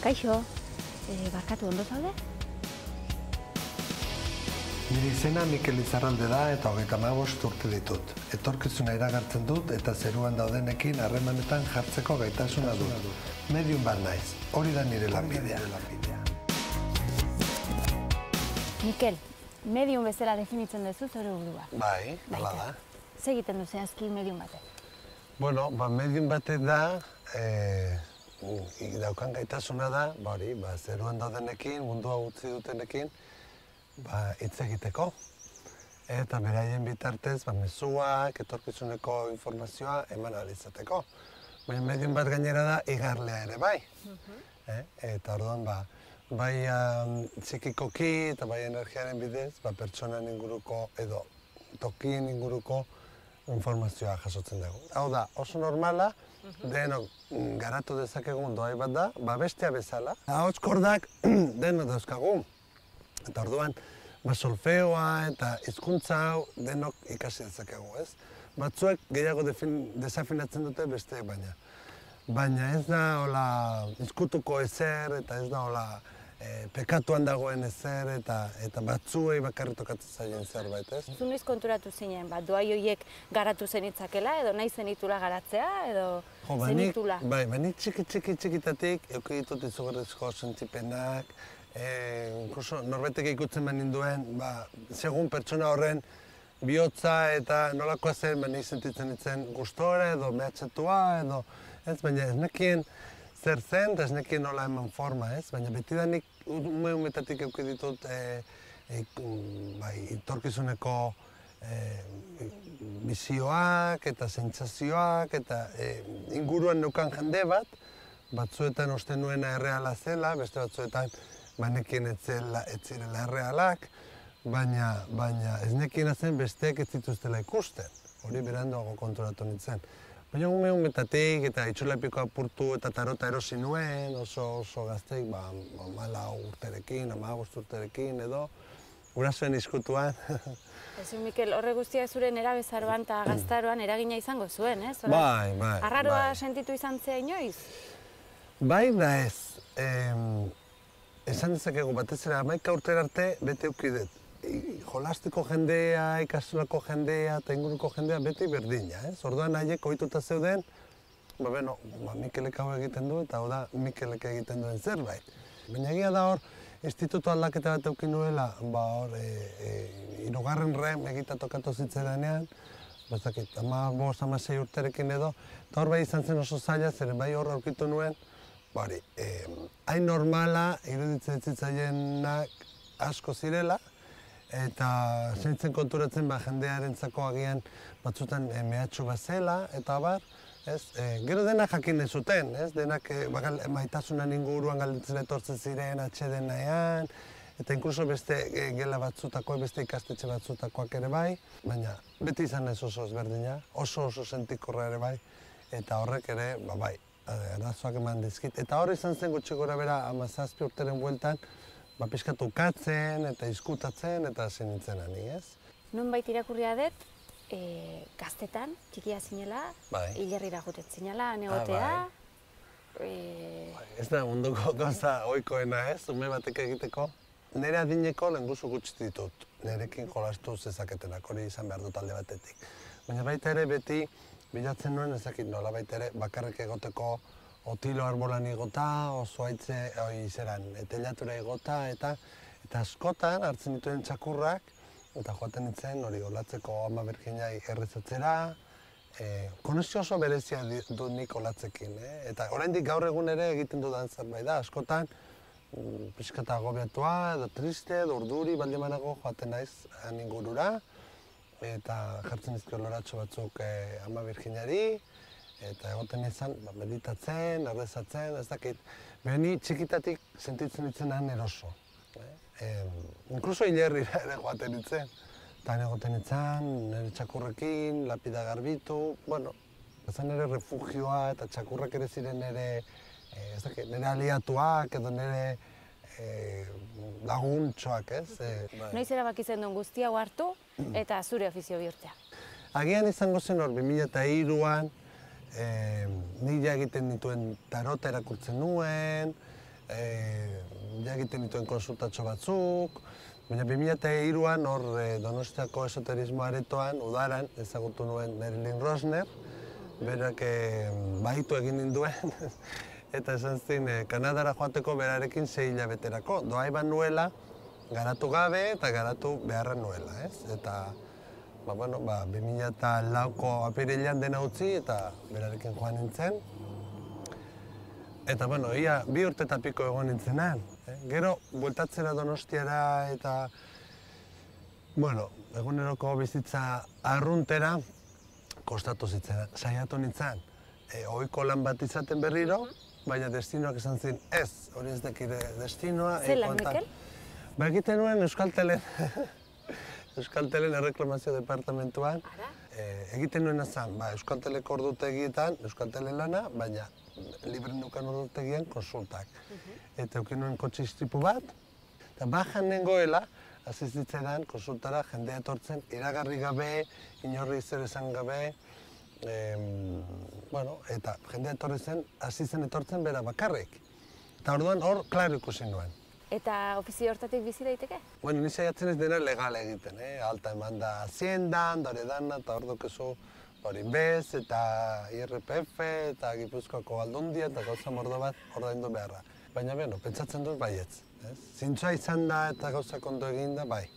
Kaixo, barkatu ondo zaude? Nire izena Mikel Izarralde da eta 35 urte ditut. Etorkizuna iragartzen dut eta zeruan daudenekin harremanetan jartzeko gaitasuna dut. Medium bat naiz, hori da nire lanbidea. Mikel, medium bezala definitzen duzu zure burua. Bai, hala da. Zer egiten du zehazki medium batek? Bueno, medium batek da, daukan gaitasuna da, zeruan daudenekin, mundua utzi dutenekin, hitz egiteko. Eta beraien bitartez, mezuak, etorkizuneko informazioa eman ahal izateko. Baina medium bat gainera da, igarlea ere bai. Eta orduan, bai psikikoki eta bai energiaren bidez, pertsonan inguruko edo tokien inguruko informazioa jasotzen dugu. Hau da, oso normala, denok garatu dezakegun doai bat da, bestea bezala. Ahotskordak denok dauzkagu. Eta orduan, solfeoa eta hizkuntza hau denok ikasi dezakegu, ez? Batzuek gehiago desafinatzen dute besteek baina. Baina ez da hola izkutuko ezer eta ez da hola pekatuan dagoen ezer eta batzuei bakarrik tokatzen zaien zerbait, ez? Zu noiz konturatu zinen, doai horiek garatu zenitzakela edo nahi zenitula garatzea edo zenitula? Bai, nik txikitatik eduki ditut izugarrizko sentipenak, inkluso norbetek ikutzen ninduen, segun pertsona horren bihotza eta nolakoa zen, nik sentitzen nintzen gustora edo mehatxatua edo, ez, baina ez nekien zer zen, eta ez nekien nola eman forma, ez? Baina betidanik umetatik eduki ditut etorkizuneko bizioak eta sentsazioak eta inguruan neukan jende bat, batzuetan uste nuena erreala zela, beste batzuetan nekien ez zirela errealak, baina ez nekien zen besteek ez zituztela ikusten, hori beranduago konturatu nintzen. Baina umetatik eta itxulepiko apurtu eta tarota erosi nuen, oso gazteik, 14 urterekin, 15 urterekin edo, gurasoen izkutuan. Ezu, Mikel, horre guztia zure nerabezaroan eta gaztaroan eragina izango zuen, ez? Bai. Arraroa sentitu izan zea inoiz? Bai da ez. Esan dezakegu batez ere 11 urtera arte bete eukidet. Jolastiko jendea, ikastolako jendea eta inguruko jendea beti berdina, ez? Orduan haiek ohituta zeuden, Mikelek hau egiten du eta hau da Mikelek egiten duen zerbait. Baina egia da hor, instituto aldaketa bat eukin nuela, hirugarren rem egita tokatu zitzaidanean, 15-16 urterekin edo, eta hor bai izan zen oso zaila, zeren bai hor aurkitu nuen, hain normala iruditzen zitzaienak asko zirela, eta zentzen konturatzen jendearentzako agian batzutan mehatxu bat zela, eta gero denak jakin ez zuten, denak maitasunan inguruan galditzen etortzen ziren atxeden nahian, eta inkluso beste gela batzutakoak, beste ikastetxe batzutakoak ere bai, baina beti izan ez oso ezberdina, oso sentikorra ere bai, eta horrek ere, arazoak eman dizkit. Eta hor izan zen gutxi gora bera 17 urteren bueltan, pixkatu ukatzen eta izkutatzen eta hasi nintzen ani, ez? Nonbait irakurria dut, gaztetan, txikia zinela, hilerrira joten zinela, negotea. Ez da munduko gauza ohikoena, ez? Ume batek egiteko. Nire adineko lehenguzu gutxi ditut, nirekin jolastu zezaketenak, hori izan behar dut alde batetik. Baina baita ere beti bilatzen nuen ezakit nola baita ere bakarrik egoteko otilo arbolan igota, oso haitze telatura igota, eta askotan hartzen dituen txakurrak, eta joaten nintzen hori olatzeko Ama Birjinai errezatzera, konexio oso berezia dut nik olatzekin, eta oraindik gaur egun ere egiten dudan zerbait da, askotan pixkata agobiatua, edo triste, edo urduri, baldin banago joaten naiz han ingurura, eta jartzen dizkio loratxo batzuk Ama Birjinari, eta egoten izan meditatzen, errezatzen, ez dakit. Beni txikitatik sentitzen ditzen han eroso. Inkluso hilerrira ere joaten nintzen. Eta egoten nintzen, nire txakurrekin, lapida garbitu, ezan nire refugioa eta txakurrak ere ziren nire aliatuak edo nire laguntxoak, ez? Noiz erabaki zen duen guztia hartu eta zure ofizio bihurtzea? Agian izango zen hor 2003an, nila egiten dituen tarota erakurtzen nuen, ja egiten dituen konsultatxo batzuk, baina 2003an hor Donostiako esoterismo aretoan, udaran, ezagutu nuen Marilyn Rosner, berak baitu egin ninduen, eta esan zin Kanadara joateko berarekin 6 hilabeterako. Doa iban nuela, garatu gabe eta garatu beharra nuela, ez? Eta, 2004ko apirilean dena utzi eta berarekin joan nintzen. Eta, ia 2 urte eta piko egon nintzenan. Gero, bueltatzera Donostiara eta, eguneroko bizitza arruntera, kostatu zitzera. Saiatu nintzen, ohiko lan bat izaten berriro, baina destinoak esan zin, ez, hori ez dekire destinoa. Zelan, Mikel? Egiten nuen Euskaltelen, Euskaltelen erreklamazio departamentuan. Egiten nuena zen, Euskalteleko ordutegietan, Euskaltelen lana, baina libre nukan ordutegian konsultak. Eta eukin nuen kotxe istripu bat, eta bajan nengoela, hasi zitzaidan konsultara jendea etortzen, iragarri gabe, inorri zer esan gabe, eta jendea etorri zen, hasi zen etortzen bera bakarrik. Eta orduan hor, klaro ikusi nuen. Eta ofizio hortatik bizi daiteke? Ni saiatzen ez dena legal egiten, alta eman da Haciendan, dore dana, eta hor dukezu hori bez, eta IRPF, eta Gipuzkoako Aldundia, eta gauza mordo bat ordaindu beharra. Baina, pentsatzen dut baietz. Zintzoa izan da eta gauzak ondo egin da, bai.